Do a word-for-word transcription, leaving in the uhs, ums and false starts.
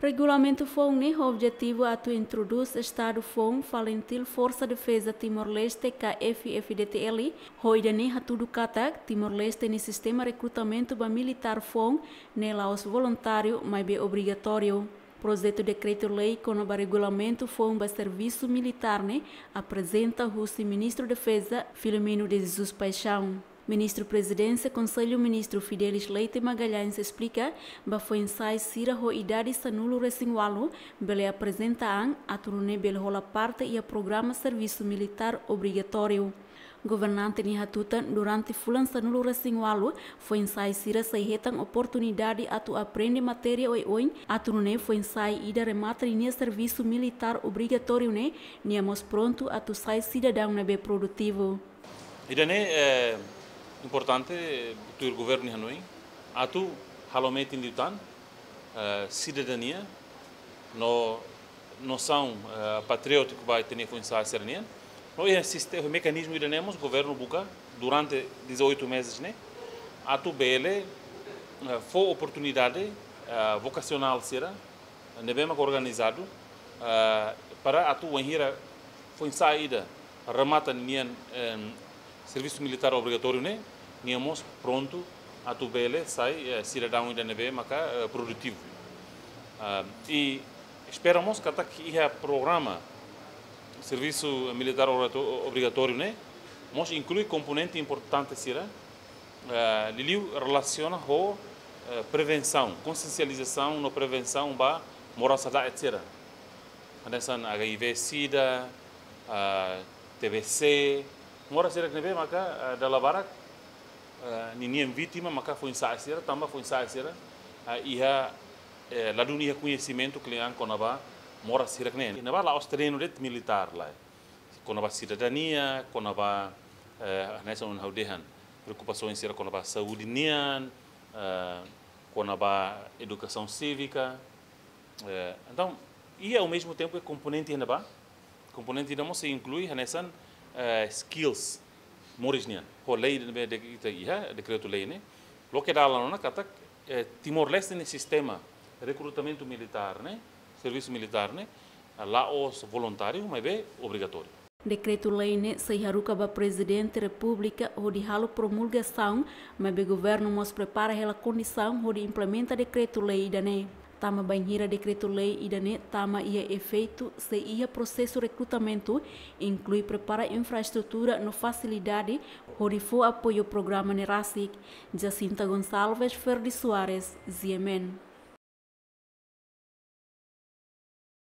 Regulamentu foun ne'e ho objetivu atu introdús estadu foun FALINTIL Forsa Defeza Timor-Leste ka F-FDTL, ho ida-ne'e hatudu katak Timor-Leste nia sistema rekrutamentu ba militár foun ne'e la'ós voluntáriu, maibé obrigatóriu. Projetu dekretu-lei kona-ba regulamentu foun ba servisu militár ne'e aprezenta husi Ministru Defeza, Filomeno de Jesus Paixão. Ministru Prezidénsia Konsellu Ministru Fidelis Leite Magalhães esplika ba foin-sa'e sira ho idade sanulu-resin-ualu bele aprezenta an atu nune'e bele hola parte iha programa servisu militár obrigatóriu. Governante nia hatutan, durante fulan sanulu-resin-ualu, foin-sa'e sira sei hetan oportunidade atu aprende matéria oioin, atu nune'e foin-sa'e ida remata ninia servisu militár obrigatóriu ne'e, nia mós prontu atu sai sidadaun ne'ebé produtivu. Ida-ne'e, eh, importante, tuir governu nia hanoin, atu halo metin liután, eh, sidadania, no nosaun, eh, patriótiku ba ita-nia foin-sa'e sira-nian. No iha siste-, mekanizmu ida-ne'e mós governu buka durante dezoito meses ne'e, atu bele, eh, fó oportunidade, eh, vokasionál sira, ne'ebé mak organizadu, eh, para atu wainhira foin-sa'e ida remata nian, em, servisu militár obrigatóriu ne'e, nia mós prontu atu bele sai, eh, sidadaun ida ne'ebé maka, eh, produtivu. Ah, i espera mós katak iha programa servisu militár obrigato-, obrigatóriu ne'e mós inklui komponente importante sira, eh, liuliu relasiona ho, eh, prevensaun, konsiensializasaun no prevensaun ba moras hada'et sira. Hanesan H I V sida, ah, T B C, moras sira ne'ebé maka, ah, dala barak, ah, ninian vítima maka foin-sa'e sira, tanba foin-sa'e sira, ah, iha, eh, ladún iha koñesimentu kle'an kona-ba moras sira-ne'e. Ne'ebá la'ós terrenu de'it militár lai. Kona-ba sidadania, kona-ba, eh, hanesan ohin ha'u dehan, preokupasaun sira kona-ba saúde nian, eh, kona-ba edukasaun sívika. Eh, entaun, i ao mesmo tempo é komponente iha ne'ebá, komponente ida mós sei inklui hanesan, eh, skills moris nian. Ho lei ne'ebé ita iha, dekretu-lei ne'e, loke dalan ona katak, eh, Timor-Leste nia sistema rekrutamentu militár ne'e, servisu militár ne'e, la'ós voluntáriu, maibé obrigatóriu. Dekretu-lei ne'e sei haruka ba Prezidente Repúblika hodi halo promulgasaun, maibé governu mós prepara hela kondisaun hodi implementa dekretu-lei ida-ne'e. Tanba bainhira dekretu-lei ida-ne'e tama iha efeitu, sei iha prosesu rekrutamentu, inklui prepara infraestrutura no fasilidade hodi fó apoiu programa ne'e rasik. Jacinta Gonçalves, Ferdi Soares, G M N.